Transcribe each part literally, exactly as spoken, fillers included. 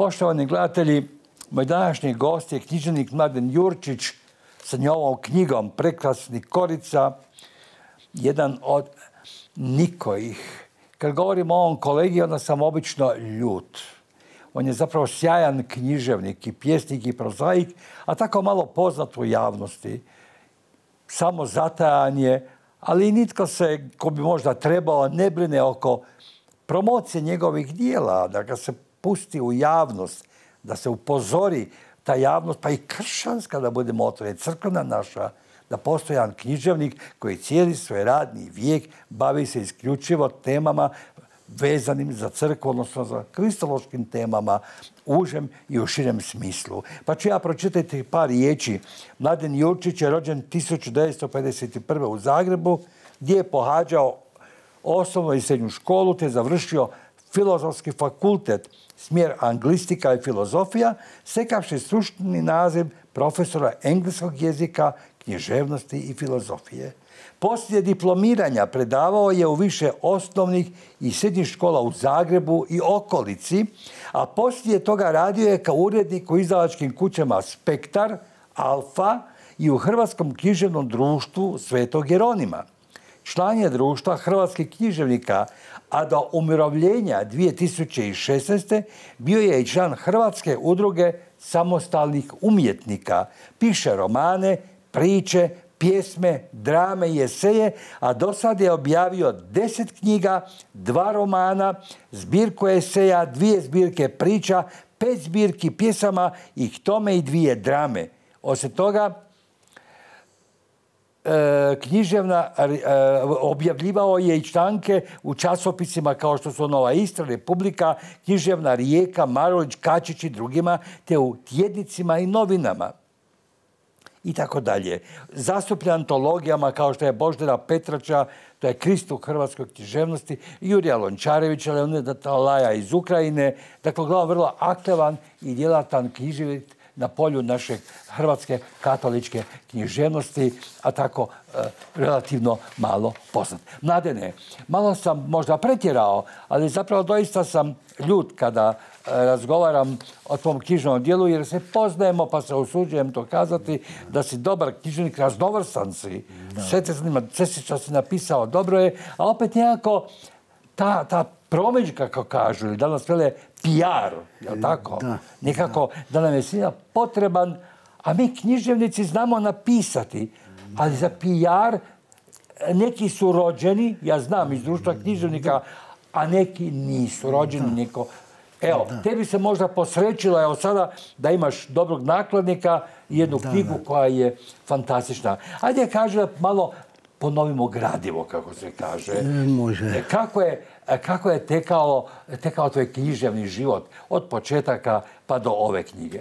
Poštovani gledatelji, moj današnji gost je književnik Mladen Jurčić sa njovom knjigom Prekrasni Korica, jedan od nikojih. Kad govorim o ovom kolegi, onda sam obično ljut. On je zapravo sjajan književnik i pjesnik i prozaik, a tako malo poznat u javnosti. Samo zatajan je, ali nitko se, ko bi možda trebao, ne brine oko promocije njegovih dijela, da ga se pusti u javnost, da se upozori ta javnost, pa i kršćanska, da budemo otvoreni, crkvena naša, da postoji jedan književnik koji cijeli svoj radni vijek bavi se isključivo temama vezanim za crkvu, odnosno za kristološkim temama, u užem i u širem smislu. Pa ću ja pročitati par riječi. Mladen Jurčić je rođen tisuću devetsto pedeset prve. u Zagrebu, gdje je pohađao osnovnu i srednju školu, te završio Filozofski fakultet, smjer anglistika i filozofija, stekavši stručni naziv profesora engleskog jezika, književnosti i filozofije. Poslije diplomiranja predavao je u više osnovnih i srednjih škola u Zagrebu i okolici, a poslije toga radio je kao urednik u izdavačkim kućama Spektar, Alfa i u Hrvatskom književnom društvu Svetog Jeronima. Član je društva hrvatskih književnika, a do umirovljenja dvije tisuće šesnaeste. bio je i član Hrvatske udruge samostalnih umjetnika. Piše romane, priče, pjesme, drame i eseje, a do sad je objavio deset knjiga, dva romana, zbirku eseja, dvije zbirke priča, pet zbirki pjesama i k tome i dvije drame. Osim toga, književna, objavljivao je i članke u časopisima kao što su Nova Istra, Republika, Književna Rijeka, Marulić, Kačić i drugima, te u tjednicima i novinama. I tako dalje. Zastupljen antologijama kao što je Božidara Petrača, to je Kristuk hrvatskoj književnosti, Jurija Lončarevića, Leonida Talaja iz Ukrajine. Dakle, glavno vrlo aktivan i djelatan književnik na polju naše hrvatske katoličke književnosti, a tako e, relativno malo poznat. Mladene, malo sam možda pretjerao, ali zapravo doista sam ljut kada e, razgovaram o tvom knjižnom dijelu, jer se poznajemo, pa se usuđujem to kazati, da si dobar književnik, raznovrstan si. Sve te zanima, sve si što si napisao, dobro je, a opet nekako ta, ta promidžba, kako kažu, ili danas vele P R, je li tako? Da, nekako da. da nam je svima potreban, a mi književnici znamo napisati, ali za P R neki su rođeni, ja znam iz društva književnika, a neki nisu rođeni. Neko. Evo, da. tebi se možda posrećilo, evo sada, da imaš dobrog nakladnika i jednu da, knjigu da. koja je fantastična. Ajde, kaže malo ponovimo gradivo, kako se kaže. Može. Kako je, kako je tekao, tekao tvoj književni život od početaka pa do ove knjige?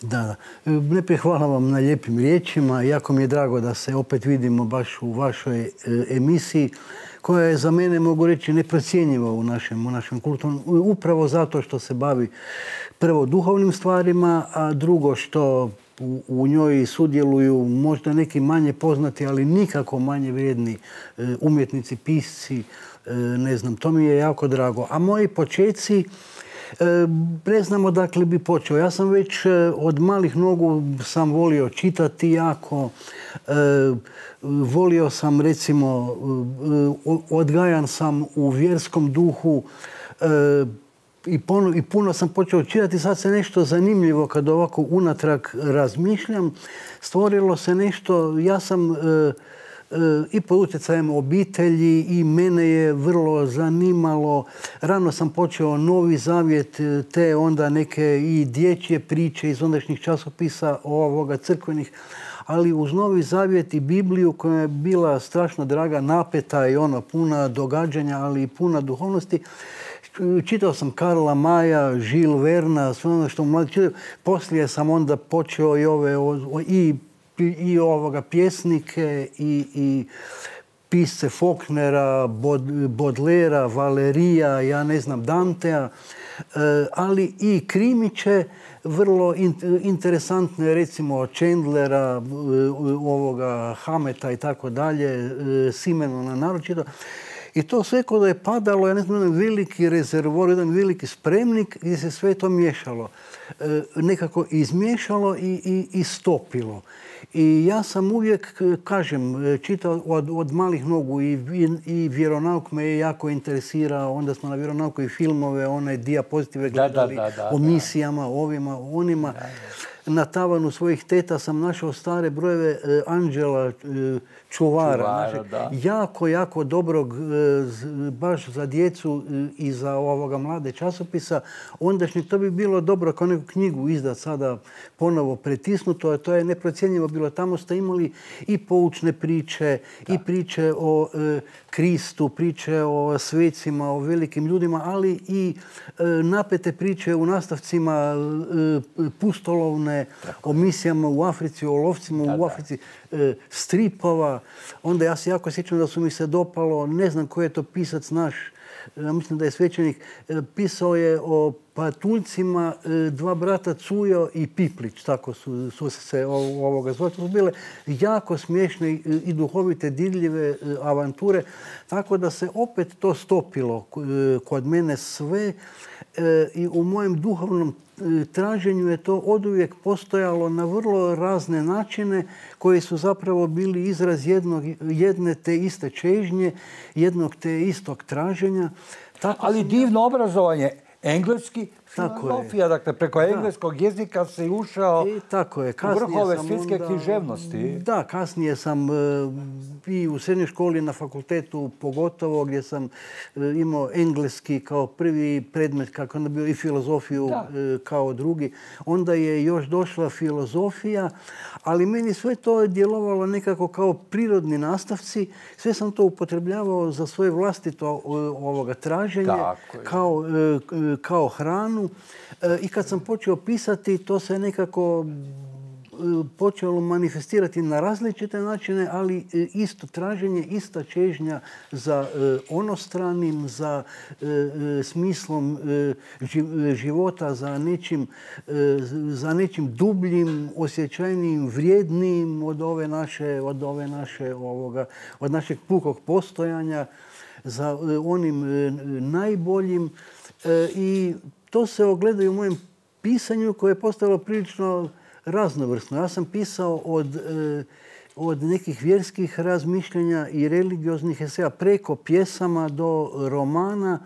Da, da. Najprije hvala vam na lijepim riječima. Jako mi je drago da se opet vidimo baš u vašoj emisiji, koja je za mene, mogu reći, neprocjenjiva u našem, u našem kulturnom, upravo zato što se bavi prvo duhovnim stvarima, a drugo što u, u njoj sudjeluju možda neki manje poznati, ali nikako manje vrijedni umjetnici, pisci, ne znam, to mi je jako drago. A moji počeci, ne znam odakle bi počeo. Ja sam već od malih nogu sam volio čitati jako. Volio sam, recimo, odgajan sam u vjerskom duhu i puno, i puno sam počeo čitati. Sad se nešto zanimljivo, kad ovako unatrag razmišljam, stvorilo se nešto. Ja sam i pod utjecajem obitelji i mene je vrlo zanimalo. Rano sam počeo Novi Zavjet, te onda neke i dječje priče iz ondašnjih časopisa ovoga crkvenih, ali uz Novi Zavjet i Bibliju koja je bila strašno draga, napeta i ono puna događanja, ali i puna duhovnosti. Čitao sam Karla Maja, Žil Verna, sve ono što mladi čitaju. Poslije sam onda počeo i ove i i ovoga pjesnike i, i pisce Faulknera, Baudelaira, Valerija, ja ne znam, Dantea, ali i krimiće vrlo interesantne, recimo Chandlera, ovoga Hameta i tako dalje, Simenona naročito. I to sve kod je padalo, ja ne znam, jedan veliki rezervor, jedan veliki spremnik gdje se sve to miješalo. E, nekako izmiješalo i, i, i stopilo. I ja sam uvijek, kažem, čitao od, od malih nogu i, i, i vjeronauk me je jako interesirao. Onda smo na vjeronauku i filmove, one dijapozitive gledali da, da, da, da, o misijama, ovima, onima. Da, da. Na tavanu svojih teta sam našao stare brojeve e, Anđela e, Čuvara, Čuvara našeg, jako, jako dobrog, e, baš za djecu e, i za ovoga mlade časopisa. Ondašnji to bi bilo dobro kao neku knjigu izdat sada ponovo pretisnuto, a to je neprocjenjivo bilo. Tamo ste imali i poučne priče, da. i priče o e, Kristu, priče o svecima, o velikim ljudima, ali i e, napete priče u nastavcima e, pustolovne, tako. O misijama u Africi, o lovcima da, u Africi, e, stripova. Onda ja se jako sjećam da su mi se dopalo, ne znam koji je to pisac naš, ja mislim da je svećenik, e, pisao je o patuljcima, e, dva brata Cujo i Piplić, tako su, su se ovoga zvali. To su bile jako smiješne i duhovite, dirljive e, avanture, tako da se opet to stopilo e, kod mene sve e, i u mojem duhovnom traženju je to oduvijek postojalo na vrlo razne načine koji su zapravo bili izraz jednog, jedne te iste čežnje, jednog te istog traženja. Tako ali divno obrazovanje, engleski, filozofija, dakle preko engleskog da. jezika se ušao I tako je. u vrhove svjetske onda, književnosti. Da, kasnije sam i u srednjoj školi, na fakultetu pogotovo, gdje sam imao engleski kao prvi predmet, kako onda bio i filozofiju da. kao drugi. Onda je još došla filozofija, ali meni sve to je djelovalo nekako kao prirodni nastavci. Sve sam to upotrebljavao za svoje vlastito ovoga traženje, kao, kao hranu. I kad sam počeo pisati, to se nekako počelo manifestirati na različite načine, ali isto traženje, ista čežnja za onostranim, za smislom života, za nečim, za nečim dubljim, osjećajnijim, vrijednijim od ove naše, od ove naše, ovoga, od našeg pukog postojanja, za onim najboljim. I to se ogleda i u mojem pisanju koje je postalo prilično raznovrsno. Ja sam pisao od, od nekih vjerskih razmišljenja i religioznih eseja preko pjesama do romana,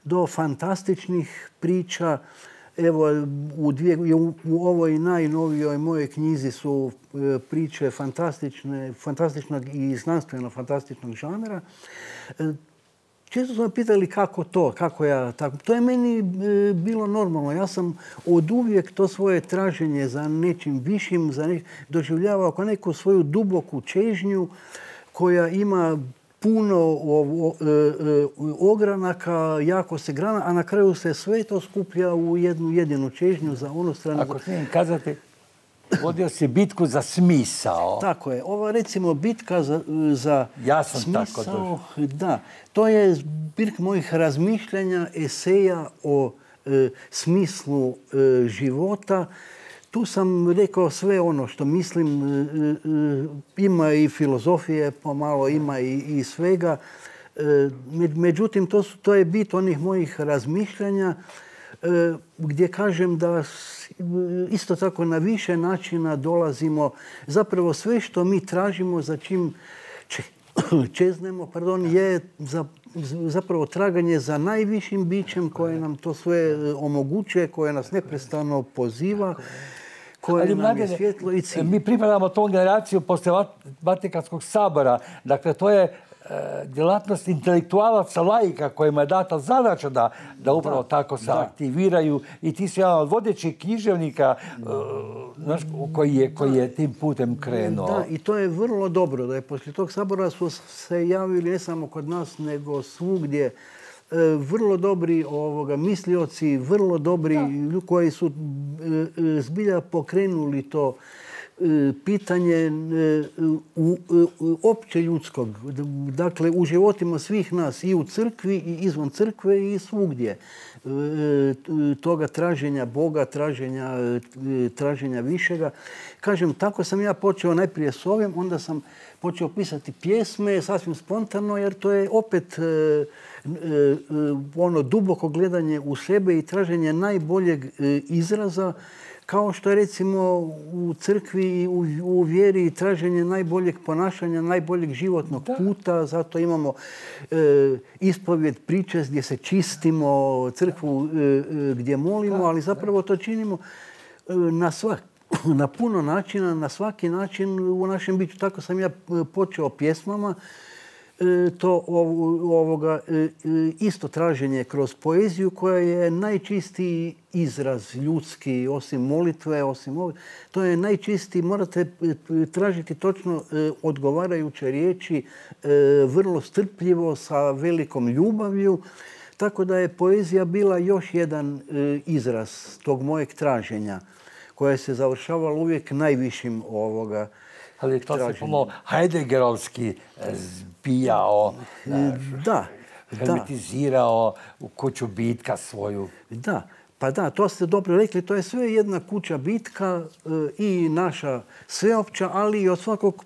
do fantastičnih priča. Evo, u, dvije, u ovoj najnovijoj mojoj knjizi su priče fantastične, fantastičnog i znanstveno-fantastičnog žanra. Često su me pitali kako to, kako ja tako. To je meni e, bilo normalno. Ja sam od uvijek to svoje traženje za nečim višim za ne, doživljavao kao neku svoju duboku čežnju koja ima puno o, o, e, ogranaka, jako se grana, a na kraju se sve to skuplja u jednu jedinu čežnju za onu stranu. Ako smijem kazati, vodio si bitku za smisao. Tako je. Ova recimo bitka za, za ja sam smisao, tako da, to je zbirka mojih razmišljanja, eseja o e, smislu e, života. Tu sam rekao sve ono što mislim. E, e, ima i filozofije, pomalo ima i, i svega. E, međutim, to, su, to je bit onih mojih razmišljanja e, gdje kažem da isto tako na više načina dolazimo. Zapravo sve što mi tražimo, za čim čeznemo, pardon, je za, zapravo traganje za najvišim bićem koje nam to sve omogućuje, koje nas neprestano poziva, koje ali, nam mladene, je svjetlo i cilj. Mi pripadamo tom generaciju poslije Vatikanskog sabora. Dakle, to je djelatnost intelektualaca, laika kojima je data zadaća da, da upravo da, tako se da. aktiviraju. I ti si jedan od vodećih književnika uh, koji, je, koji je tim putem krenuo. Da, i to je vrlo dobro da je poslije tog sabora su se javili ne samo kod nas, nego svugdje uh, vrlo dobri ovoga, mislioci, vrlo dobri da. koji su uh, zbilja pokrenuli to pitanje opće ljudskog, dakle u životima svih nas, i u crkvi, i izvan crkve, i svugdje. Toga traženja Boga, traženja, traženja višega. Kažem, tako sam ja počeo najprije s ovim, onda sam počeo pisati pjesme, sasvim spontano, jer to je opet ono duboko gledanje u sebe i traženje najboljeg izraza, kao što je recimo u crkvi i u vjeri traženje najboljeg ponašanja, najboljeg životnog puta. Zato imamo ispovjed, priče gdje se čistimo, crkvu gdje molimo, ali zapravo to činimo na svak, na puno načina, na svaki način u našem biću. Tako sam ja počeo pjesmama. To ovoga isto traženje kroz poeziju koja je najčistiji izraz ljudski, osim molitve, osim ovog. To je najčistiji, morate tražiti točno odgovarajuće riječi, vrlo strpljivo, sa velikom ljubavlju. Tako da je poezija bila još jedan izraz tog mojeg traženja, koje se završavalo uvijek najvišim ovoga. Ali to se pomalo Heideggerovski zbijao, da, hermetizirao u kuću bitka svoju. Da, pa da, to ste dobro rekli. To je sve jedna kuća bitka i naša sveopća, ali i od svakog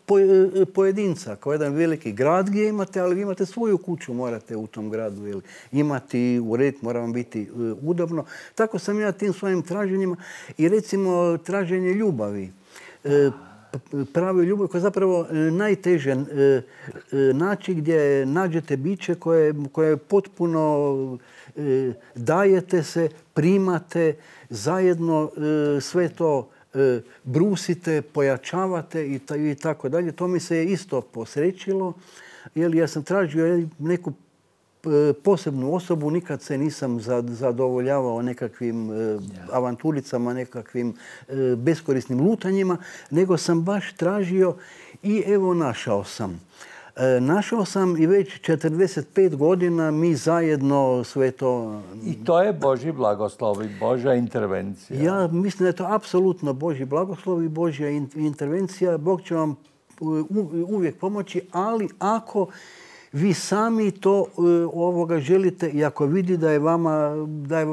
pojedinca. Kao jedan veliki grad gdje imate, ali vi imate svoju kuću, morate u tom gradu imati ured, mora vam biti udobno. Tako sam ja tim svojim traženjima i recimo traženje ljubavi. Pravi ljubav koja je zapravo najteže naći, gdje nađete biće koje, koje potpuno dajete se, primate, zajedno sve to brusite, pojačavate i tako dalje. To mi se isto posrećilo, jer ja sam tražio neku posebnu osobu, nikad se nisam zadovoljavao nekakvim avanturicama, nekakvim beskorisnim lutanjima, nego sam baš tražio i evo našao sam. Našao sam i već četrdeset pet godina mi zajedno sve to... I to je Božji blagoslov i Božja intervencija. Ja mislim da je to apsolutno Božji blagoslov i Božja intervencija. Bog će vam uvijek pomoći, ali ako vi sami to ovoga želite i ako vidi da je vama, da je,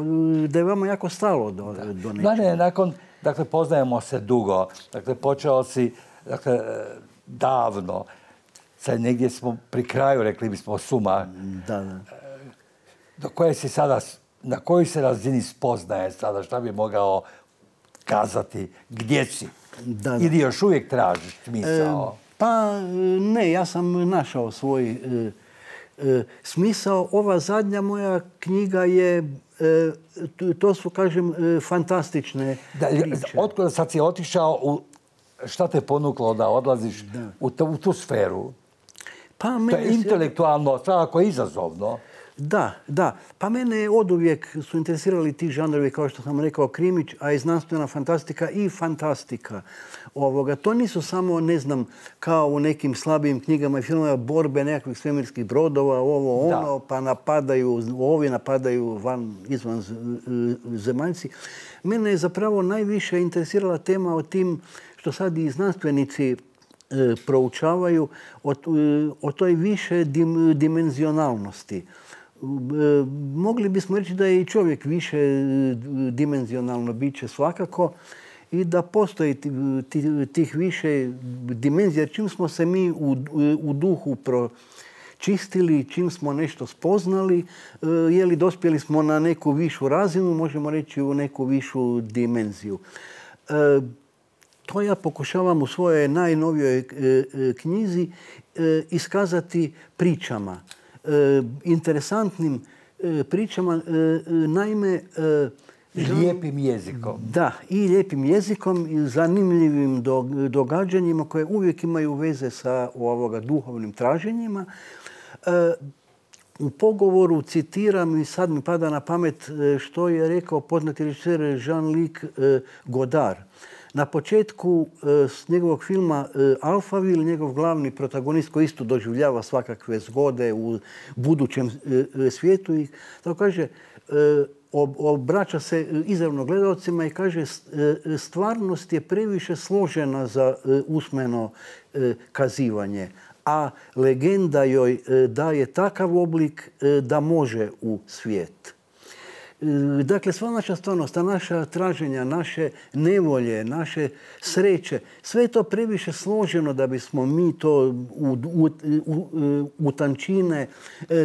da je vama jako stalo do, do nečega. Da, ne, nakon, dakle, poznajemo se dugo. Dakle, počeo si, dakle, davno. Sad negdje smo pri kraju, rekli bismo, suma. Da, da. Do koje si sada, na kojoj se razini spoznaje sada, šta bi mogao kazati, gdje si? Da, da. Ili još uvijek tražiš smisao? E, Pa ne, ja sam našao svoj e, e, smisao. Ova zadnja moja knjiga je, e, to su, kažem, e, fantastične da, priče. Otkud sad si otišao, u, šta te ponuklo da odlaziš u, to, u tu sferu? Pa to je intelektualno, svakako izazovno. Da, da. Pa mene oduvijek su interesirali ti žanrovi, kao što sam rekao, krimić, a i znanstvena fantastika i fantastika. Ovoga. To nisu samo, ne znam, kao u nekim slabijim knjigama i filmama, borbe nekakvih svemirskih brodova, ovo, ono, da. Pa napadaju, ovi napadaju van, izvan zemaljci. Mene je zapravo najviše interesirala tema o tim što sad i znanstvenici e, proučavaju, o, o toj više dim, dimenzionalnosti. Mogli bismo reći da je i čovjek više dimenzionalno biće svakako i da postoji tih više dimenzija. Čim smo se mi u, u duhu pročistili, čim smo nešto spoznali, je li dospjeli smo na neku višu razinu, možemo reći u neku višu dimenziju. To ja pokušavam u svojoj najnovijoj knjizi iskazati pričama. Interesantnim pričama, naime... Lijepim jezikom. Da, i lijepim jezikom i zanimljivim događanjima koje uvijek imaju veze sa ovoga duhovnim traženjima. U pogovoru citiram i sad mi pada na pamet što je rekao poznati režiser Jean-Luc Godard. Na početku s njegovog filma Alphaville, njegov glavni protagonist koji isto doživljava svakakve zgode u budućem svijetu i tako kaže, obraća se izravno gledalcima i kaže stvarnost je previše složena za usmeno kazivanje, a legenda joj daje takav oblik da može u svijet. Dakle, sva naša stvarnost, ta naša traženja, naše nevolje, naše sreće, sve je to previše složeno da bismo mi to u, u, u, u tančine.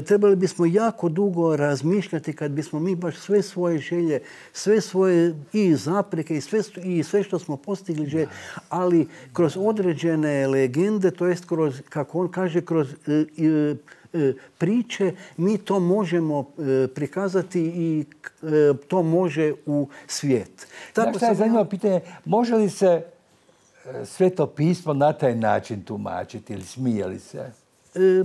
Trebali bismo jako dugo razmišljati kad bismo mi baš sve svoje želje, sve svoje i zapreke i sve, i sve što smo postigli želje, ali kroz određene legende, to jest kroz, kako on kaže, kroz i, priče, mi to možemo prikazati i to može u svijet. Tako što je zanimljivo pitanje, može li se Sveto pismo na taj način tumačiti ili smije li se? E,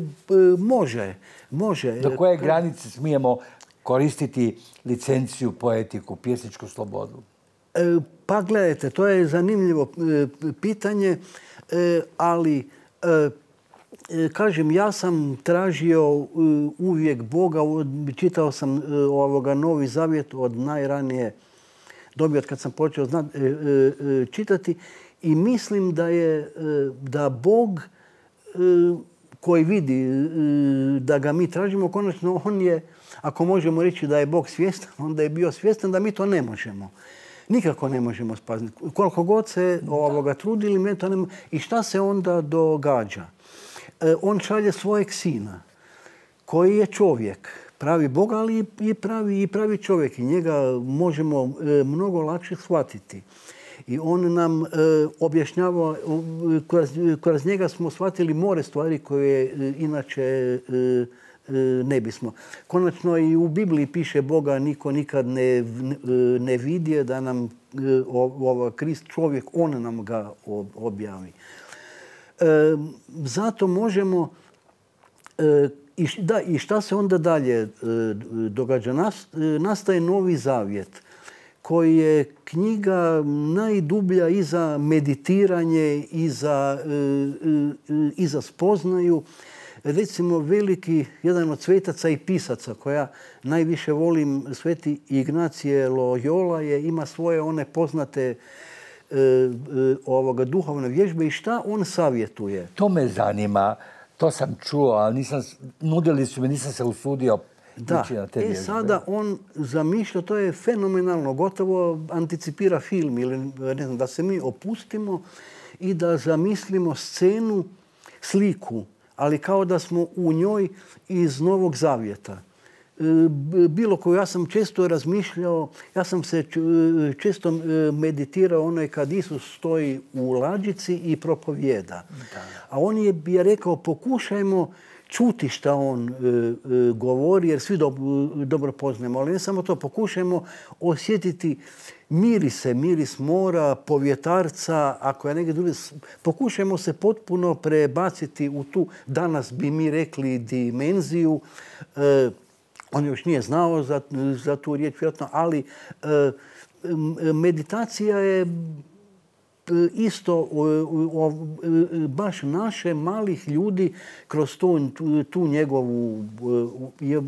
može, može. Do koje granice smijemo koristiti licenciju, poetiku, pjesničku slobodu? E, pa gledajte, to je zanimljivo pitanje, ali kažem, ja sam tražio uvijek Boga, čitao sam ovoga Novi Zavjet od najranije dobi, od kad sam počeo znat, čitati i mislim da je da Bog koji vidi da ga mi tražimo, konačno on je, ako možemo reći da je Bog svjestan, onda je bio svjestan da mi to ne možemo. Nikako ne možemo spasiti. Koliko god se ovoga trudili, mi to ne možemo. I šta se onda događa? On šalje svojeg sina, koji je čovjek, pravi Bog, ali i pravi, i pravi čovjek. I njega možemo mnogo lakše shvatiti. I on nam e, objašnjava, kroz, kroz njega smo shvatili more stvari koje e, inače e, e, ne bismo. Konačno i u Bibliji piše Boga niko nikad ne, ne vidje, da nam e, ova Krist čovjek, on nam ga objavi. E, zato možemo, e, i, da, i šta se onda dalje e, događa? Nas, e, nastaje Novi Zavjet, koji je knjiga najdublja i za meditiranje, i za, e, e, i za spoznaju. Recimo, veliki, jedan od svetaca i pisaca koja najviše volim, Sveti Ignacije Loyola, je, ima svoje one poznate ovoga duhovne vježbe i šta on savjetuje? To me zanima, to sam čuo, ali nisam, nudili su me, nisam se usudio da. ići na te vježbe. E sada on zamišlja, to je fenomenalno, gotovo anticipira film ili ne znam, da se mi opustimo i da zamislimo scenu, sliku, ali kao da smo u njoj iz Novog Zavjeta. Bilo koju, ja sam često razmišljao, ja sam se često meditirao onaj kad Isus stoji u lađici i propovijeda. Da. A on je, je rekao, pokušajmo čuti šta on e, govori, jer svi do, dobro poznajemo. Ali ne samo to, pokušajmo osjetiti mirise, miris mora, povjetarca, ako je negdje drugi. Pokušajmo se potpuno prebaciti u tu, danas bi mi rekli, dimenziju. E, On još nije znao za, za tu riječ, vjerojatno, ali e, meditacija je isto o, o, baš naše malih ljudi kroz tu, tu, tu njegovu... Je,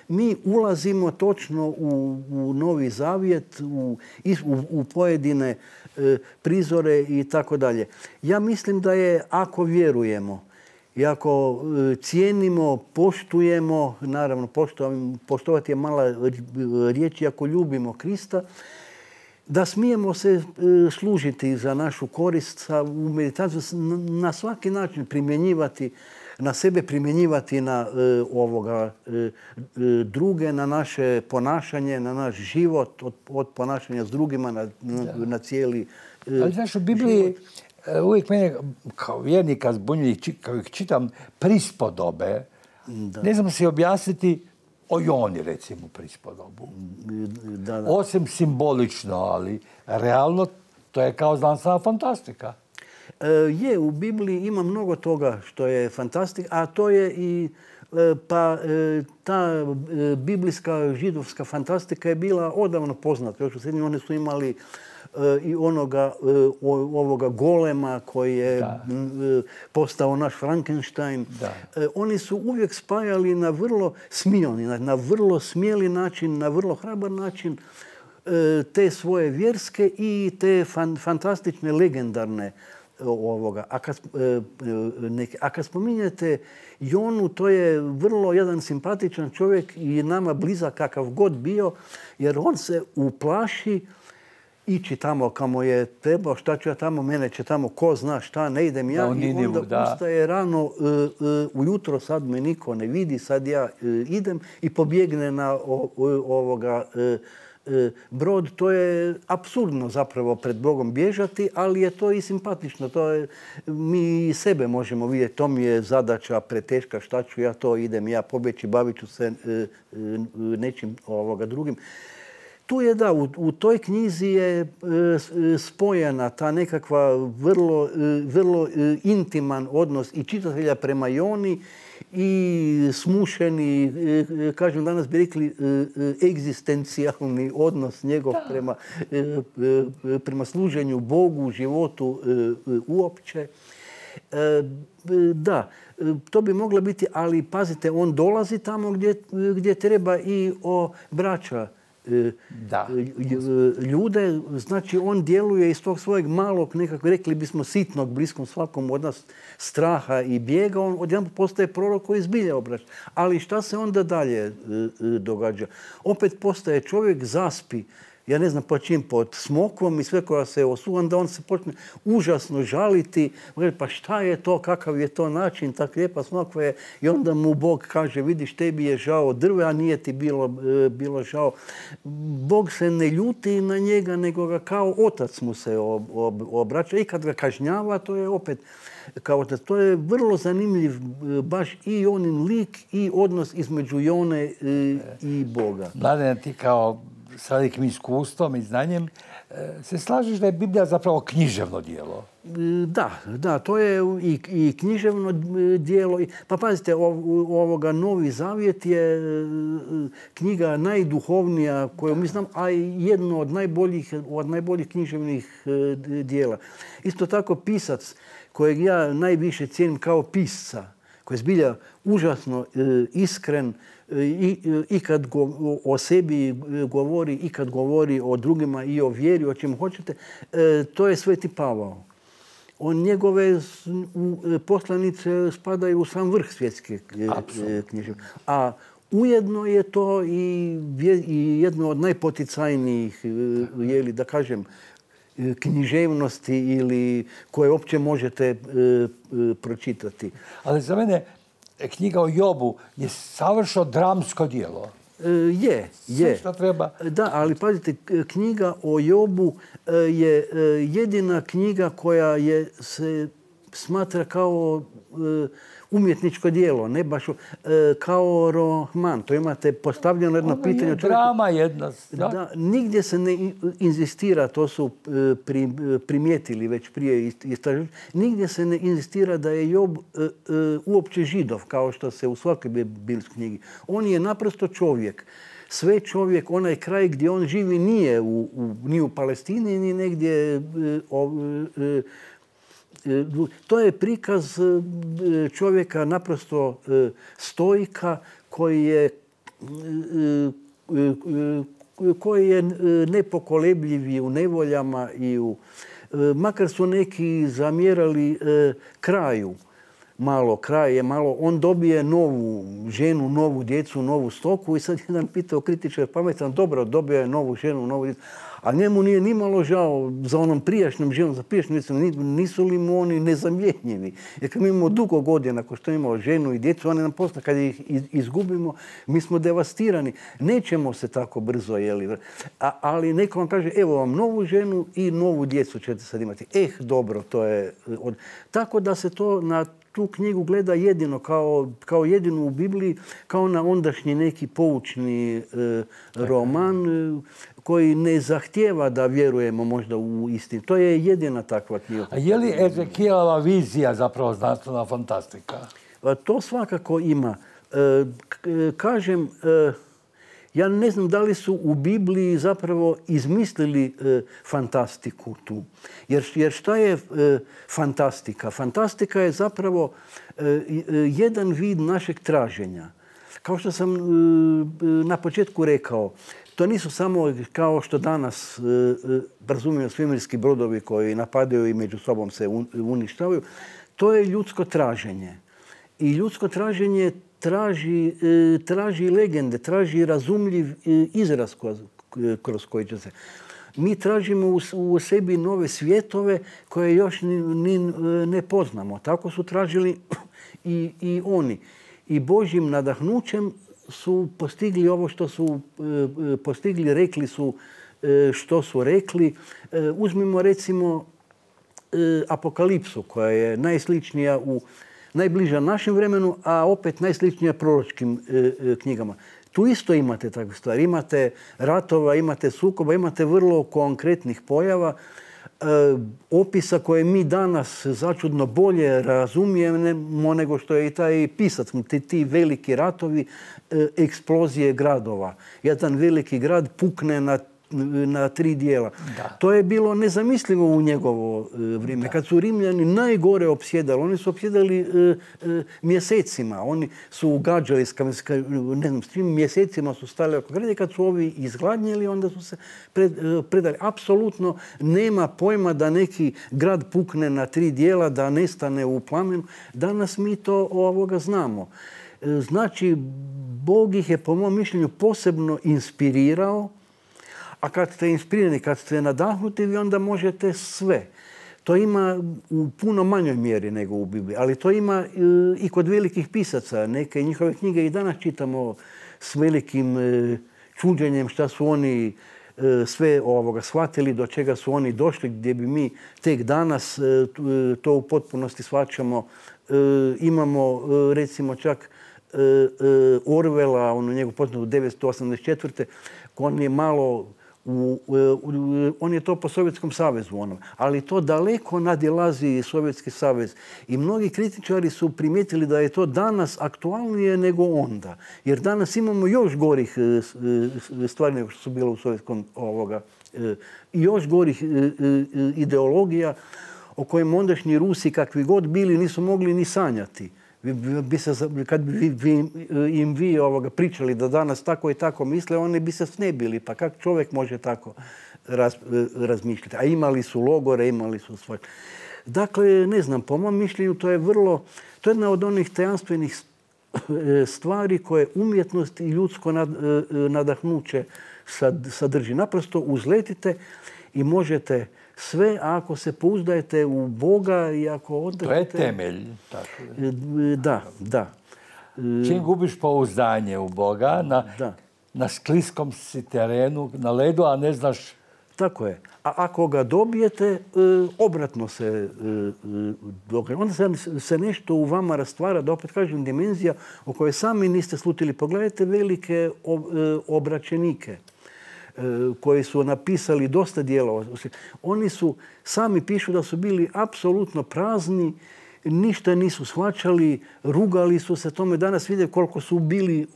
mi ulazimo točno u, u Novi Zavjet, u, u, u pojedine e, prizore i tako dalje. Ja mislim da je, ako vjerujemo, i ako cijenimo, poštujemo, naravno poštovati je mala riječ, i ako ljubimo Krista, da smijemo se služiti za našu korist u meditaciju, na svaki način primjenjivati, na sebe primjenjivati na ovoga druge, na naše ponašanje, na naš život, od, od ponašanja s drugima na, na, na cijeli Ali znaš, u Bibliji život. Uvijek mene kao vjernika zbunjuje, kao ih čitam, prispodobe. Da. Ne znam si objasniti o Joni, recimo, prispodobu. Da, da. Osim simbolično, ali realno to je kao znanstvena fantastika. E, je, u Bibliji ima mnogo toga što je fantastika, a to je i e, pa e, ta e, biblijska židovska fantastika je bila odavno poznata. Još u srednjim oni su imali i onoga ovoga golema koji je da. postao naš Frankenstein. Da. Oni su uvijek spajali na vrlo smioni, na vrlo smjeli način, na vrlo hrabar način te svoje vjerske i te fan, fantastične, legendarne ovoga. A kad, neke, a kad spominjete Jonu, to je vrlo jedan simpatičan čovjek i nama blizak kakav god bio, jer on se uplaši ići tamo kamo je trebao, šta ću ja tamo, mene će tamo, ko zna šta, ne idem ja. Da, i onda da. ustaje rano, uh, uh, ujutro, sad me niko ne vidi, sad ja uh, idem i pobjegne na o, o, ovoga uh, brod. To je apsurdno zapravo pred Bogom bježati, ali je to i simpatično. To je, mi i sebe možemo vidjeti, to mi je zadaća preteška, šta ću ja, to idem ja pobjeći, bavit ću se nečim ovoga drugim. Tu je da, u, u toj knjizi je spojena ta nekakva vrlo, vrlo intiman odnos i čitatelja prema Joni i smušeni, kažem danas bi rekli, egzistencijalni odnos njegov prema, prema služenju Bogu, životu uopće. Da, to bi moglo biti, ali pazite, on dolazi tamo gdje, gdje treba i o braća da. ljude. Znači, on djeluje iz tog svojeg malog, nekako rekli bismo sitnog, bliskom svakom od nas straha i bijega. On odjedanput postaje prorok koji zbilja obraća. Ali šta se onda dalje događa? Opet postaje čovjek, zaspi, ja ne znam po čim, pod smokvom i sve koja se osuva, onda on se počne užasno žaliti. Pa šta je to, kakav je to način, tak lijepa smokva je. I onda mu Bog kaže, vidiš, tebi je žao drve, a nije ti bilo, bilo žao. Bog se ne ljuti na njega, nego ga kao otac mu se obraća. I kad ga kažnjava, to je opet kao otac. To je vrlo zanimljiv baš i onin lik i odnos između Jone i Boga. Mladen, ti kao sa velikim iskustvom i znanjem, se slažeš da je Biblija zapravo književno djelo? Da, da, to je i, i književno djelo. Pa pazite, ovoga Novi Zavjet je knjiga najduhovnija koju mi znam, a i jedno od najboljih, od najboljih književnih djela. Isto tako pisac kojeg ja najviše cijenim kao pisca, koji je zbilja užasno iskren, I, i kad go, o sebi govori, i kad govori o drugima i o vjeri, o čemu hoćete, e, to je Sveti Pavao. On, njegove poslanice spadaju u sam vrh svjetske književnosti. A ujedno je to i, i jedno od najpoticajnijih, jeli, da kažem, književnosti ili koje uopće možete e, e, pročitati. Ali za mene knjiga o Jobu je savršeno dramsko djelo. E, je, je. Sve što treba. Da, ali pazite, knjiga o Jobu je jedina knjiga koja je se smatra kao umjetničko djelo, ne baš kao roman. To imate postavljeno jedno ono pitanje. Je drama jedna. Da? Da, nigdje se ne inzistira, to su pri, primijetili već prije istraživanja, nigdje se ne inzistira da je Job uopće Židov, kao što se u svakoj biblijskoj knjigi. On je naprosto čovjek. Sve čovjek, onaj kraj gdje on živi nije u, u, ni u Palestini, ni negdje o, to je prikaz čovjeka naprosto stoika koji je, koji je nepokolebljiv i u nevoljama i u, makar su neki zamjerali kraju. Malo, kraj je malo, on dobije novu ženu, novu djecu, novu stoku i sad jedan pitao kritičar pametan, dobro, dobio je novu ženu, novu djecu, a njemu nije ni malo žao za onom prijašnjom ženom, za prijašnjom djecom, nisu li mu oni nezamjenjivi. Jer kad mi imamo dugo godina, ako što imamo ženu i djecu, oni nam posle, kad ih izgubimo, mi smo devastirani. Nećemo se tako brzo, jeli. A, ali neko vam kaže, evo vam novu ženu i novu djecu ćete sad imati. Eh, dobro, to je... Od... Tako da se to na tu knjigu gleda jedino, kao, kao jedinu u Bibliji, kao na ondašnji neki poučni e, roman e, koji ne zahtijeva da vjerujemo možda u istinu. To je jedina takva knjiga. A je li Ezekijelova vizija zapravo znanstvena fantastika? To svakako ima. E, kažem, e, Ja ne znam da li su u Bibliji zapravo izmislili e, fantastiku tu. Jer, jer šta je e, fantastika? Fantastika je zapravo e, jedan vid našeg traženja. Kao što sam e, na početku rekao, to nisu samo kao što danas e, razumiju svemirski brodovi koji napadaju i među sobom se uništavaju. To je ljudsko traženje. I ljudsko traženje traži, traži legende, traži razumljiv izraz kroz koji će se. Mi tražimo u sebi nove svjetove koje još ni, ni ne poznamo. Tako su tražili i, i oni. I Božjim nadahnućem su postigli ovo što su postigli, rekli su što su rekli. Uzmimo recimo Apokalipsu koja je najsličnija u najbliža našem vremenu, a opet najsličnija proročkim e, e, knjigama. Tu isto imate takve stvari. Imate ratova, imate sukoba, imate vrlo konkretnih pojava, e, opisa koje mi danas začudno bolje razumijemo nego što je i taj pisac. Ti, ti veliki ratovi, e, eksplozije gradova. Jedan veliki grad pukne na na tri dijela. Da. To je bilo nezamislivo u njegovo vrijeme. Da. Kad su Rimljani najgore opsjedali, oni su opsjedali e, e, mjesecima. Oni su ugađali, ne znam, s tim mjesecima su stali oko grada. Kad su ovi izgladnjeli, onda su se pred, e, predali. Apsolutno nema pojma da neki grad pukne na tri dijela, da nestane u plamenu. Danas mi to ovoga znamo. E, znači, Bog ih je, po mom mišljenju, posebno inspirirao. A kad ste inspirirani, kad ste nadahnuti, vi onda možete sve. To ima u puno manjoj mjeri nego u Bibliji, ali to ima i kod velikih pisaca. Neke njihove knjige i danas čitamo s velikim čuđenjem šta su oni sve ovoga shvatili, do čega su oni došli, gdje bi mi tek danas to u potpunosti shvaćamo. Imamo recimo čak Orwella, ono njegov poznat devetsto osamdeset četvrte On je malo U, u, on je to po Sovjetskom savezu, ono. Ali to daleko nadilazi Sovjetski savez. I mnogi kritičari su primijetili da je to danas aktualnije nego onda. Jer danas imamo još gorih stvari nego što su bile u Sovjetskom ovoga. I još gorih ideologija o kojim ondašnji Rusi, kakvi god bili, nisu mogli ni sanjati. Bi se, kad bi vi, im vi ovoga pričali da danas tako i tako misle, oni bi se snebili. Pa kako čovjek može tako raz, razmišljati? A imali su logore, imali su svoje. Dakle, ne znam, po mom mišljenju to je vrlo, to je jedna od onih tajanstvenih stvari koje umjetnost i ljudsko nadahnuće sadrži. Naprosto uzletite i možete sve, ako se pouzdajete u Boga i ako odete... To je temelj. Tako je. Da, da. Čim gubiš pouzdanje u Boga, na, na skliskom si terenu, na ledu, a ne znaš... Tako je. A ako ga dobijete, obratno se događa. Onda se, se nešto u vama rastvara, da opet kažem, dimenzija o kojoj sami niste slutili. Pogledajte velike obraćenike koji su napisali dosta dijela. Oni su, sami pišu da su bili apsolutno prazni, ništa nisu shvaćali, rugali su se tome. Danas vide koliko su bili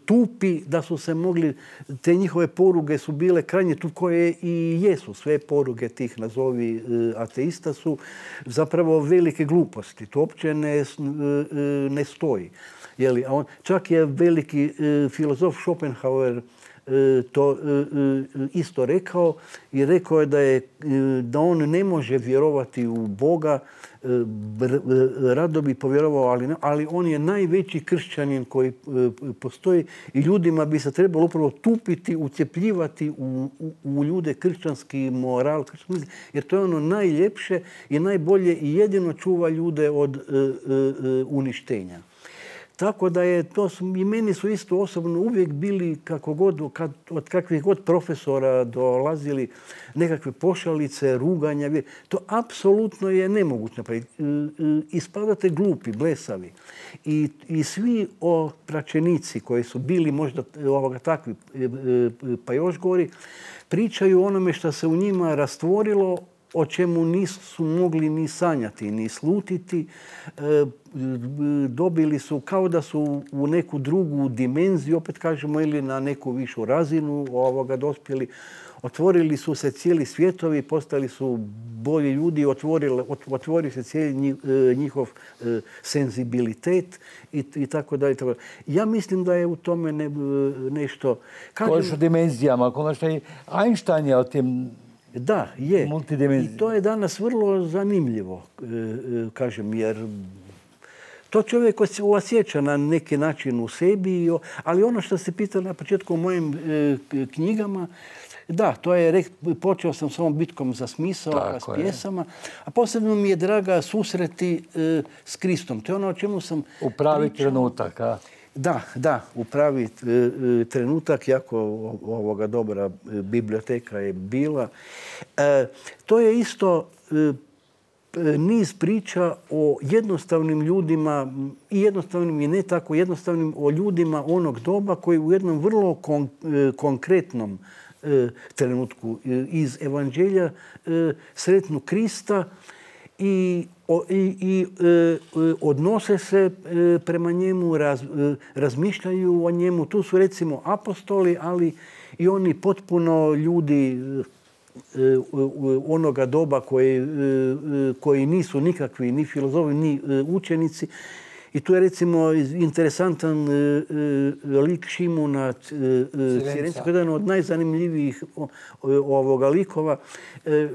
tupi, da su se mogli, te njihove poruge su bile krajnje tup, koje i jesu. Sve poruge tih, nazovi ateista, su zapravo velike gluposti. To uopće ne, ne stoji. Jeli, a on, čak je veliki filozof Schopenhauer to isto rekao i rekao je da, je da on ne može vjerovati u Boga, rado bi povjerovao, ali, ne, ali on je najveći kršćanin koji postoji i ljudima bi se trebalo upravo tupiti, ucjepljivati u, u, u ljude kršćanski moral, kršćanski, jer to je ono najljepše i najbolje i jedino čuva ljude od uh, uh, uništenja. Tako da je to, i meni su isto osobno uvijek bili, kako god, kad, od kakvih god profesora dolazili nekakve pošalice, ruganja. To apsolutno je nemoguće napraviti. Ispadate glupi, blesavi. I, i svi opraćenici koji su bili možda ovoga takvi, pa još gori, pričaju onome što se u njima rastvorilo o čemu nisu mogli ni sanjati, ni slutiti. Dobili su kao da su u neku drugu dimenziju, opet kažemo, ili na neku višu razinu ovoga dospjeli. Otvorili su se cijeli svijetovi, postali su bolji ljudi, otvorio se cijeli njihov senzibilitet i tako dalje. Ja mislim da je u tome nešto... Koliko dimenzijama, konačno i Einstein je o tim... Da, je. I to je danas vrlo zanimljivo, kažem, jer to čovjek osjeća na neki način u sebi, ali ono što ste pitali na početku u mojim knjigama, da, to je, počeo sam s ovom bitkom za smisao, pa s pjesama, a posebno mi je draga susreti s Kristom. To je ono o čemu sam u pravi trenutak, a? Da, da, u pravi trenutak, jako ovoga dobra biblioteka je bila. To je isto niz priča o jednostavnim ljudima i jednostavnim i ne tako jednostavnim, o ljudima onog doba koji u jednom vrlo konkretnom trenutku iz Evanđelja sretnu Krista i, i, i odnose se prema njemu, raz, razmišljaju o njemu. Tu su recimo apostoli, ali i oni potpuno ljudi onoga doba koji, koji nisu nikakvi ni filozofi, ni učenici. I tu je recimo interesantan lik Šimuna Cirenskog, jedan od najzanimljivijih ovoga likova,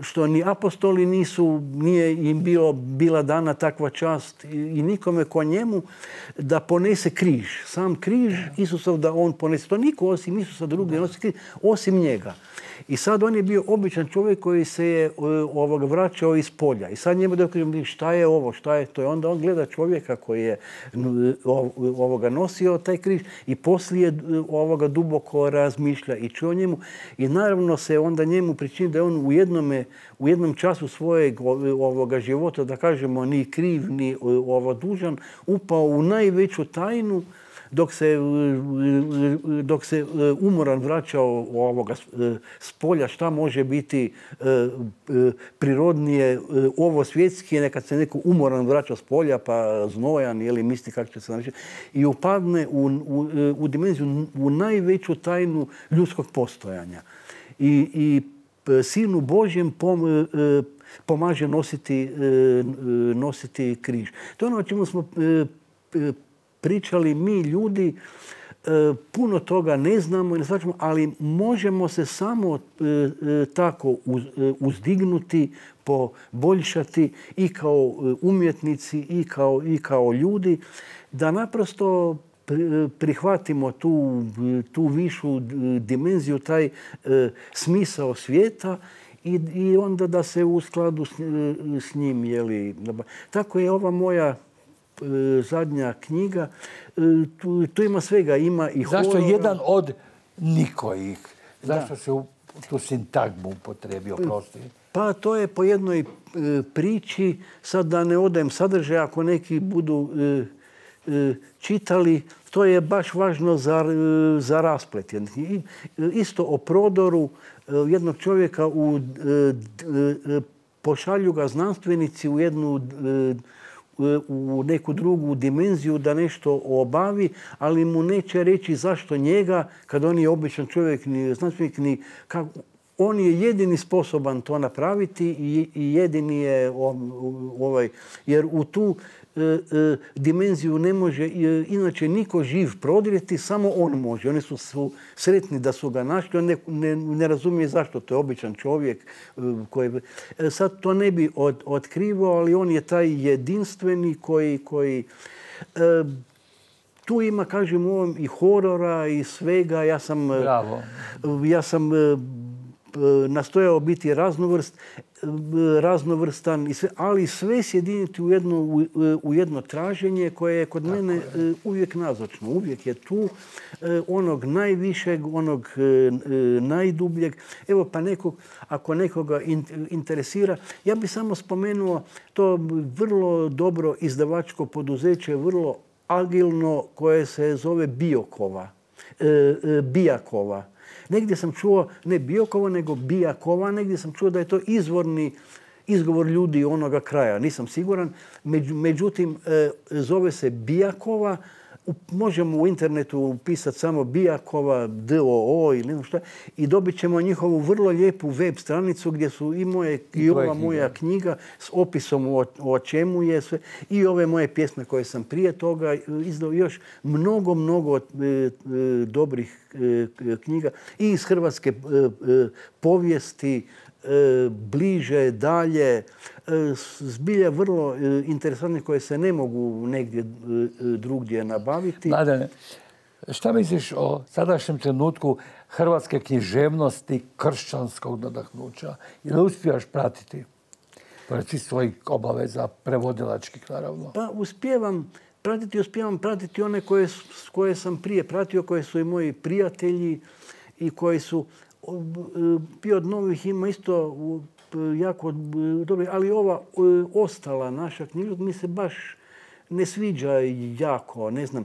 što ni apostoli nisu, nije im bilo, bila dana takva čast i nikome ko njemu da ponese križ. Sam križ Isusov da on ponese. To niko osim Isusa drugi ne nosi križ, osim njega. I sad on je bio običan čovjek koji se je ovoga vraćao iz polja. I sad njemu da kažem šta je ovo, šta je to. I onda on gleda čovjeka koji je ovoga nosio taj križ i poslije ovoga duboko razmišlja i čuje o njemu. I naravno se onda njemu pričini da je on u jednome, u jednom času svojeg ovoga života, da kažemo ni kriv, ni ovo dužan, upao u najveću tajnu dok se, dok se umoran vraćao ovoga s polja, šta može biti prirodnije, ovo svjetski, nekad se neko umoran vraća s polja, pa znojan, ili misli kako će se naći, i upadne u, u, u dimenziju, u najveću tajnu ljudskog postojanja. I, i Sinu Božjem pom, pomaže nositi, nositi križ. To je ono o čemu smo pričali mi ljudi, puno toga ne znamo i ne shvaćamo, ali možemo se samo tako uzdignuti, poboljšati i kao umjetnici i kao, i kao ljudi, da naprosto prihvatimo tu, tu višu dimenziju, taj smisao svijeta i, i onda da se u skladu s, s njim, jeli. Tako je ova moja zadnja knjiga. Tu, tu ima svega, ima i horora. Zašto jedan od nikojih? Zašto se u tu sintagmu upotrebio, prosti? Pa to je po jednoj priči, sad da ne odajem sadržaj, ako neki budu čitali, to je baš važno za, za rasplet. Isto o prodoru jednog čovjeka, u, pošalju ga znanstvenici u jednu u neku drugu dimenziju da nešto obavi, ali mu neće reći zašto njega, kad on je običan čovjek, ni znanstvenik, ni kako. On je jedini sposoban to napraviti i jedini je ovaj, jer u tu e, e, dimenziju ne može e, inače niko živ prodrijeti, samo on može. Oni su, su sretni da su ga našli, on ne, ne, ne razumije zašto, to je običan čovjek. E, koji, e, sad to ne bi od, otkrivao, ali on je taj jedinstveni koji... koji e, tu ima, kažem, u ovom i horora i svega. Ja sam... Bravo. Ja sam nastojao biti raznovrst, raznovrstan, i sve, ali sve sjediniti u jedno, u, u jedno traženje koje je kod Tako mene je. uvijek nazočno. Uvijek je tu onog najvišeg, onog najdubljeg. Evo pa nekog, ako nekoga interesira, ja bih samo spomenuo to vrlo dobro izdavačko poduzeće, vrlo agilno, koje se zove Biokova. Bijakova. Negdje sam čuo, ne Biokova, nego Bijakova, negdje sam čuo da je to izvorni izgovor ljudi onoga kraja. Nisam siguran. Međutim, zove se Bijakova. Možemo u internetu upisati samo Bijakova, D O O ili ne šta, i dobit ćemo njihovu vrlo lijepu web stranicu gdje su i moje i ova moja knjiga s opisom o, o čemu je sve i ove moje pjesme koje sam prije toga izdao, još mnogo, mnogo e, e, dobrih e, knjiga i iz hrvatske e, e, povijesti, e, bliže, dalje, e, zbilja vrlo e, interesantne koje se ne mogu negdje e, drugdje nabaviti. Mladene, šta misliš o sadašnjem trenutku hrvatske književnosti, kršćanskog nadahnuća? Ili uspijaš pratiti? Pored svih svojih obaveza, prevodilačkih naravno. Pa uspijevam pratiti, uspijevam pratiti one koje, koje sam prije pratio, koje su i moji prijatelji i koji su bio od novih ima isto jako dobri, ali ova ostala naša knjiga mi se baš ne sviđa jako, ne znam.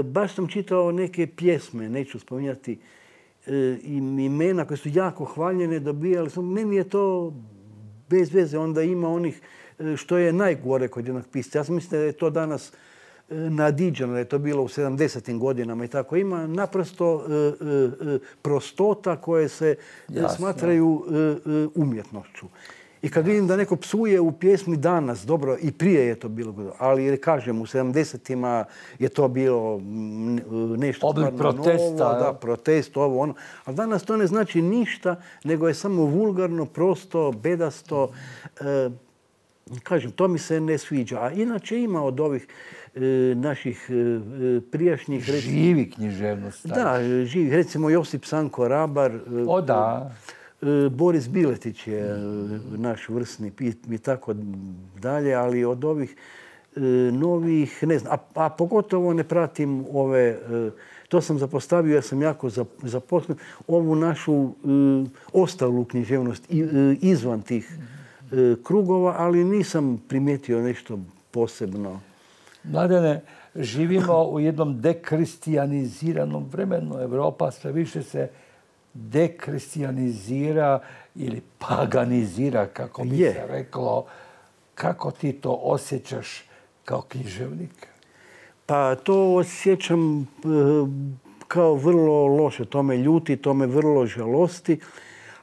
Baš sam čitao neke pjesme, neću spominjati imena koje su jako hvaljene, dobijali sam. Meni je to bez veze, onda ima onih što je najgore kod jednog pisca. Ja sam mislim da je to danas nadiđeno, da je to bilo u sedamdesetim godinama i tako. Ima naprosto e, e, prostota koje se Jasno. smatraju e, umjetnošću. I kad vidim da neko psuje u pjesmi danas, dobro, i prije je to bilo, ali kažem, u sedamdesetima je to bilo nešto oblik protesta, novo, da, protest, ovo, ono. A danas to ne znači ništa, nego je samo vulgarno, prosto, bedasto. E, kažem, to mi se ne sviđa. A inače ima od ovih e, naših e, prijašnjih... Živi književnost. Da, živi. Recimo Josip Sanko Rabar. O da. Boris Biletić je naš vrsni i tako dalje, ali od ovih novih, ne znam, a, a pogotovo ne pratim ove, to sam zapostavio, ja sam jako zaposlen, ovu našu ostalu književnost izvan tih krugova, ali nisam primijetio nešto posebno. Mladene, živimo u jednom dekristijaniziranom vremenu. Evropa sve više se dekristijanizira ili paganizira, kako bi se reklo. Kako ti to osjećaš kao književnik? Pa to osjećam kao vrlo loše. To me ljuti, to me vrlo žalosti.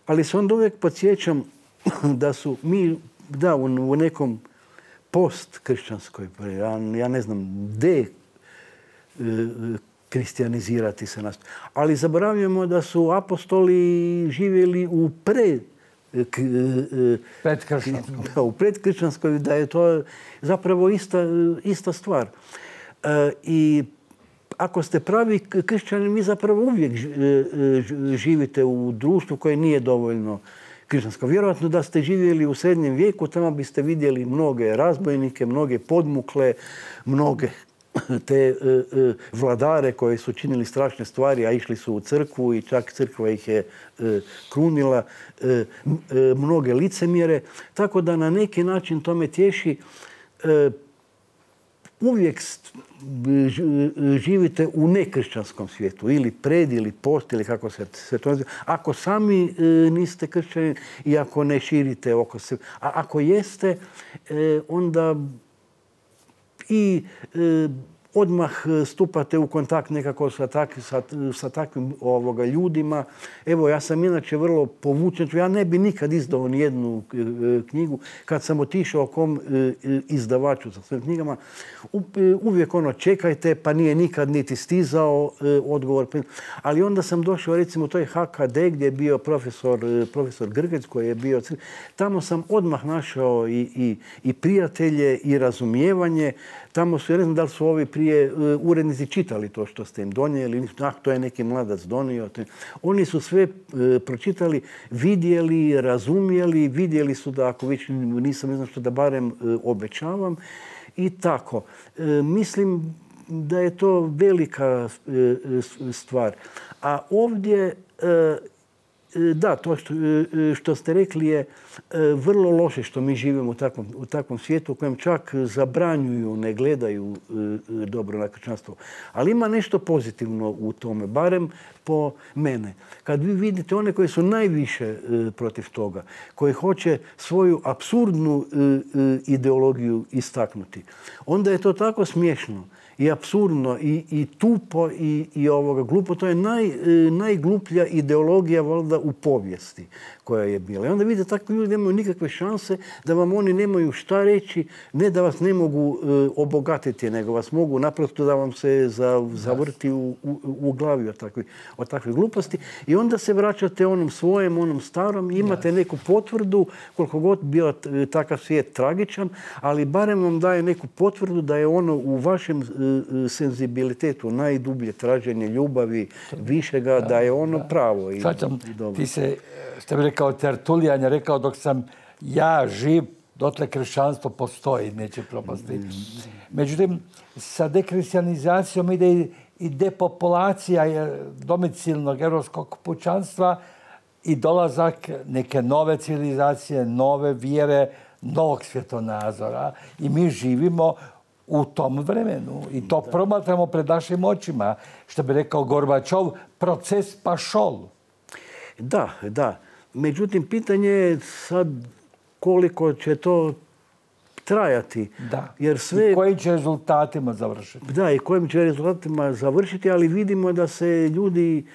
Ali se onda uvijek podsjećam da su mi, da, u nekom post-kršćanskoj, ja ne znam, de kristijanizirati se nas. Ali zaboravljamo da su apostoli živjeli u pre predkršćanskoj. Da, u predkršćanskoj, da je to zapravo ista, ista stvar. E, I ako ste pravi kršćani, vi zapravo uvijek živite u društvu koje nije dovoljno kršćansko. Vjerojatno da ste živjeli u srednjem vijeku, tamo biste vidjeli mnoge razbojnike, mnoge podmukle, mnoge te e, e, vladare koji su činili strašne stvari, a išli su u crkvu i čak crkva ih je e, krunila, e, e, mnoge licemjere. Tako da na neki način to me tješi. E, uvijek živite u nekršćanskom svijetu, ili pred, ili post, ili kako se, se to naziva. Ako sami e, niste kršćani i ako ne širite oko sebe, a ako jeste, e, onda i e, odmah stupate u kontakt nekako sa, tak, sa, sa takvim ovoga, ljudima. Evo, ja sam inače vrlo povučen. Ja ne bi nikad izdao nijednu e, knjigu. Kad sam otišao kom e, izdavaču sa svojim knjigama, u, e, uvijek ono, čekajte, pa nije nikad niti stizao e, odgovor. Ali onda sam došao, recimo, to je H K D gdje je bio profesor, e, profesor Grgec koji je bio... Tamo sam odmah našao i, i, i prijatelje i razumijevanje. Tamo su, ja ne znam da li su ovi prije urednici čitali to što ste im donijeli, ah, to je neki mladac donio. Oni su sve pročitali, vidjeli, razumjeli, vidjeli su da ako već nisam, ne znam što, da barem obećavam i tako. Mislim da je to velika stvar. A ovdje Da, to što, što ste rekli je vrlo loše što mi živimo u takvom, u takvom svijetu u kojem čak zabranjuju, ne gledaju dobro na kršćanstvo. Ali ima nešto pozitivno u tome, barem po mene. Kad vi vidite one koji su najviše protiv toga, koji hoće svoju apsurdnu ideologiju istaknuti, onda je to tako smiješno i apsurdno i, i tupo i, i ovoga glupo. To je naj, najgluplja ideologija valjda u povijesti koja je bila. I onda vidite, takvi ljudi nemaju nikakve šanse, da vam oni nemaju šta reći, ne da vas ne mogu e, obogatiti, nego vas mogu naprosto da vam se za, zavrti u, u, u glavi od takvih, od takvih gluposti. I onda se vraćate onom svojem, onom starom, imate neku potvrdu, koliko god bio takav svijet tragičan, ali barem vam daje neku potvrdu da je ono u vašem e, senzibilitetu najdublje traženje ljubavi, višega, da, da je ono da. pravo. I, Svačam, i dobro. Ti se, što bi rekao Tertulijan, je rekao dok sam ja živ, dotle kršćanstvo postoji, neće propasti. Međutim, sa dekrišćanizacijom ide i, i depopulacija domicilnog europskog pučanstva i dolazak neke nove civilizacije, nove vjere, novog svjetonazora. I mi živimo u tom vremenu i to da. promatramo pred našim očima. Što bi rekao Gorbačov, proces pašol. Da, da. Međutim, pitanje je sad koliko će to trajati. Da. Jer sve... I kojim će rezultatima završiti. Da, i kojim će rezultatima završiti, ali vidimo da se ljudi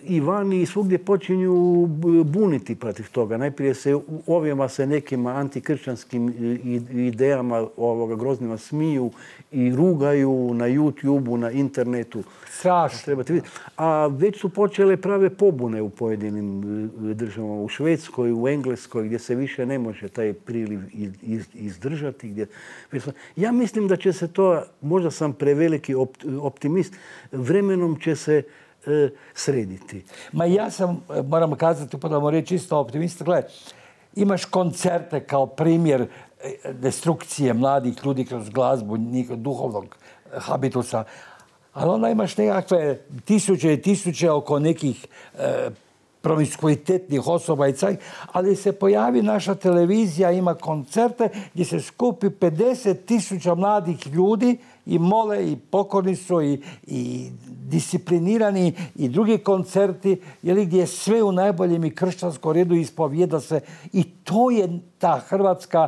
i vani i svugdje počinju buniti protiv toga. Najprije se ovima se nekim antikršćanskim idejama ovoga groznima smiju i rugaju na YouTubeu, na internetu. Strašno. A već su počele prave pobune u pojedinim državama. U Švedskoj, u Engleskoj, gdje se više ne može taj priliv izdržati. Gdje... Ja mislim da će se to, možda sam preveliki optimist, vremenom će se e, srediti. Ma ja sam, moram kazati, upadamo reći isto optimista, gledaj, imaš koncerte kao primjer destrukcije mladih ljudi kroz glazbu, njihovog duhovnog habitusa, ali onda imaš nekakve tisuće i tisuće oko nekih e, promiskuitetnih osoba i caj, ali se pojavi naša televizija, ima koncerte gdje se skupi pedeset tisuća mladih ljudi i mole i pokorni su i, i disciplinirani i drugi koncerti, jeli, gdje je sve u najboljem i kršćanskom redu ispovijeda se. I to je ta Hrvatska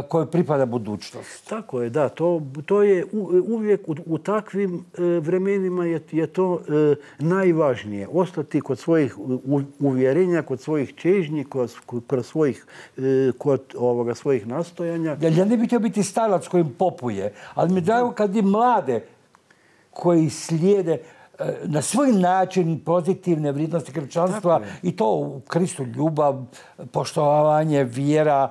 kojoj pripada budućnost. Tako je, da. To, to je uvijek u, u takvim e, vremenima je, je to e, najvažnije. Ostati kod svojih u, uvjerenja, kod svojih čežnji, kod, kod, svojih, e, kod ovoga, svojih nastojanja. Ja, ja ne bih htio biti starac kojim popuje, ali mi drago kad i mlade koji slijede na svoj način pozitivne vrijednosti kršćanstva i to u Kristu ljubav, poštovanje, vjera,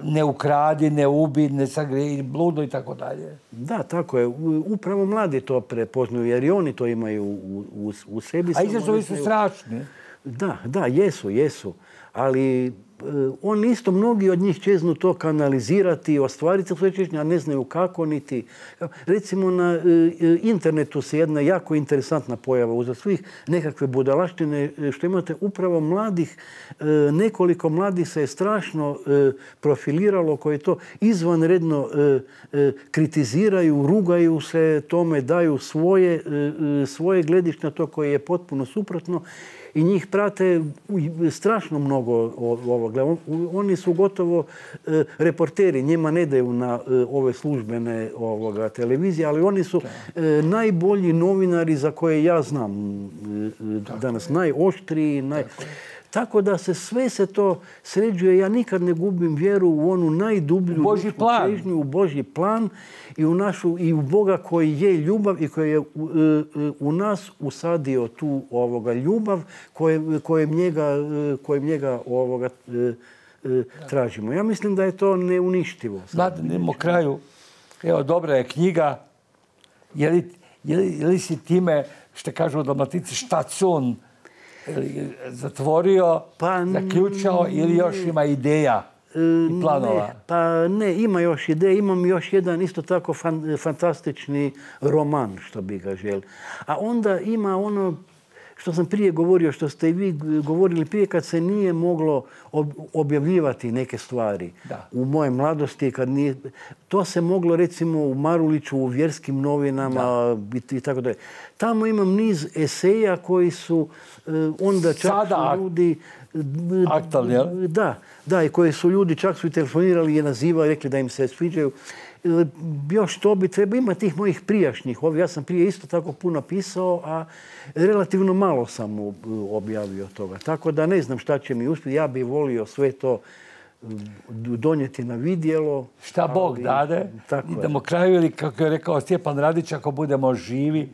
ne ukradi, ne ubi, ne sagreji, bludo i tako dalje. Da, tako je. Upravo mladi to prepoznaju jer i oni to imaju u, u, u sebi. A izazovi su strašni. Da, da, jesu, jesu. Ali oni isto, mnogi od njih čeznu to kanalizirati, ostvariti svoje čežnje, a ne znaju kako niti. Recimo na internetu se jedna jako interesantna pojava uza svih nekakve budalaštine što imate upravo mladih, nekoliko mladih se je strašno profiliralo koje to izvanredno kritiziraju, rugaju se tome, daju svoje, svoje gledište na to koje je potpuno suprotno. I njih prate strašno mnogo ovoga. Oni su gotovo e, reporteri. Njima ne daju na e, ove službene ovoga, televizije, ali oni su e, najbolji novinari za koje ja znam e, danas. Najoštriji. Naj... Tako da se sve se to sređuje. Ja nikad ne gubim vjeru u onu najdublju Božji plan. Čežnju, u Božji plan i u, našu, i u Boga koji je ljubav i koji je u, u nas usadio tu ovoga ljubav kojem, kojem njega, kojem njega ovoga, tražimo. Ja mislim da je to neuništivo. Znate, idemo kraju. Evo, dobra je knjiga. Je li, je li, je li si time, što kažu u Dalmatici, štacun zatvorio, pa, zaključao ili još ima ideja i planova? Ne, pa ne, ima još ideja. Imam još jedan isto tako fan, fantastični roman, što bi ga želi. A onda ima ono što sam prije govorio, što ste i vi govorili prije, kad se nije moglo objavljivati neke stvari. Da. U moje mladosti, kad nije... To se moglo, recimo, u Maruliću, u vjerskim novinama i tako dalje. Tamo imam niz eseja koji su onda čak Sada, su ljudi... aktualni, jel? Da, da, i koji su ljudi čak su i telefonirali i nazivali, rekli da im se sviđaju. Još to bi treba ima tih mojih prijašnjih. Ja sam prije isto tako puno pisao, a relativno malo sam objavio toga. Tako da ne znam šta će mi uspjeti. Ja bih volio sve to donijeti na vidjelo. Šta Bog dade. Idemo kraju ili, kako je rekao Stjepan Radić, ako budemo živi,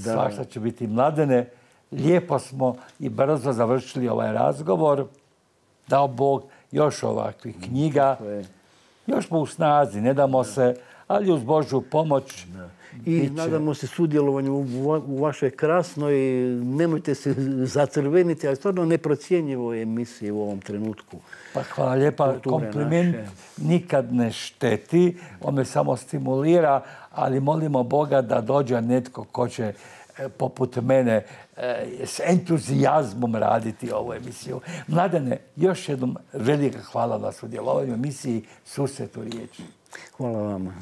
svašta će biti. Mladene, lijepo smo i brzo završili ovaj razgovor. Dao Bog još ovakvih knjiga. Još smo u snazi, ne damo se, ali uz Božju pomoć. I nadamo se sudjelovanju u vašoj krasnoj, nemojte se zacrveniti, ali stvarno neprocjenjivoj emisiji u ovom trenutku. Pa hvala lijepa, kompliment nikad ne šteti, on me samo stimulira, ali molimo Boga da dođe netko ko će poput mene s entuzijazmom raditi ovu emisiju. Mladene, još jednom velika hvala na sudjelovanju u emisiji Susret u riječi. Hvala vama.